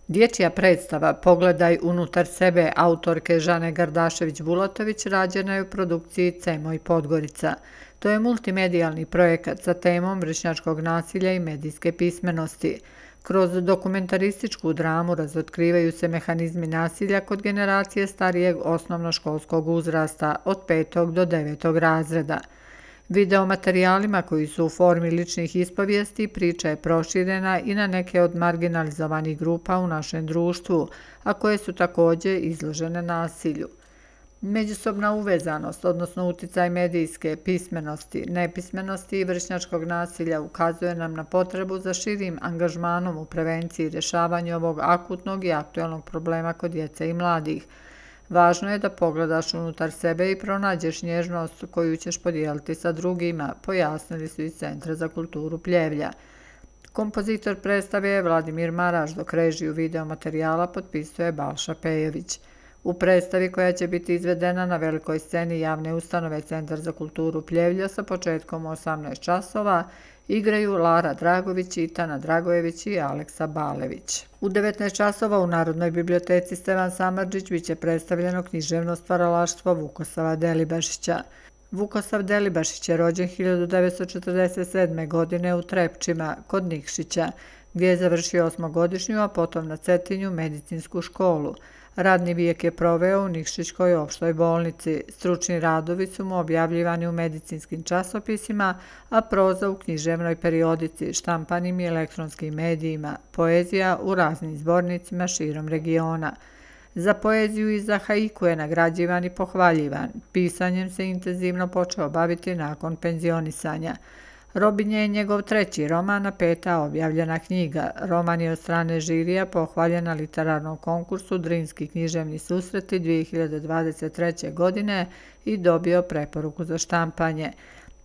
Dječja predstava Pogledaj unutar sebe autorke Žane Gardašević-Bulatović rađena je u produkciji CEMO i Podgorica. To je multimedijalni projekat sa temom vršnjačkog nasilja i medijske pismenosti. Kroz dokumentarističku dramu razotkrivaju se mehanizmi nasilja kod generacije starijeg osnovnoškolskog uzrasta od 5. do 9. razreda. Videomaterijalima koji su u formi ličnih ispovijesti priča je proširena i na neke od marginalizovanih grupa u našem društvu, a koje su također izložene nasilju. Međusobna uvezanost, odnosno uticaj medijske pismenosti, nepismenosti i vršnjačkog nasilja ukazuje nam na potrebu za širim angažmanom u prevenciji i rješavanju ovog akutnog i aktualnog problema kod djece i mladih. Važno je da pogledaš unutar sebe i pronađeš nježnost koju ćeš podijeliti sa drugima, pojasnili su iz Centra za kulturu Pljevlja. Kompozitor predstave je Vladimir Maraš, dok režiju videomaterijala potpisuje Balša Pejović. U predstavi koja će biti izvedena na velikoj sceni javne ustanove Centar za kulturu Pljevlja sa početkom u 18 časova igraju Lara Dragović, Itana Dragojević i Aleksa Balević. U 19 časova u Narodnoj biblioteci Stevan Samardžić biće predstavljeno književno stvaralaštvo Vukosava Delibašića. Vukosav Delibašić je rođen 1947. godine u Trepčima kod Nikšića, gdje je završio osmogodišnju, a potom na Cetinju medicinsku školu. Radni vijek je proveo u Nikšićkoj opštoj bolnici. Stručni radovi su mu objavljivani u medicinskim časopisima, a proza u književnoj periodici, štampanim i elektronskim medijima, poezija u raznim zbornicima širom regiona. Za poeziju i za haiku je nagrađivan i pohvaljivan. Pisanjem se intenzivno počeo baviti nakon penzionisanja. Robinje je njegov treći roman, a peta objavljena knjiga. Roman je od strane žirija pohvaljen na literarnom konkursu Drinski književni susreti 2023. godine i dobio preporuku za štampanje.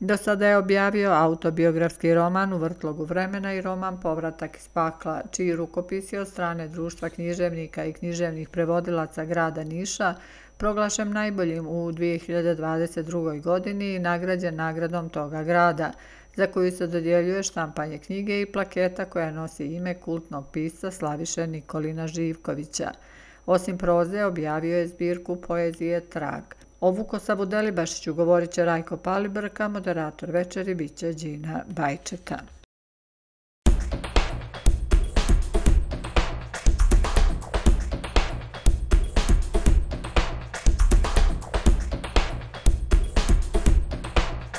Do sada je objavio autobiografski roman U vrtlogu vremena i roman Povratak iz pakla, čiji rukopis je od strane Društva književnika i književnih prevodilaca grada Niša proglašen najboljim u 2022. godini i nagrađen nagradom toga grada, za koju se dodjeljuje štampanje knjige i plaketa koja nosi ime kultnog pisca Slaviše Nikolina Živkovića. Osim proze, objavio je zbirku poezije Trag. O Vukosavu Delibašiću govorit će Rajko Palibrka, moderator večeri biće Đina Bajčeta.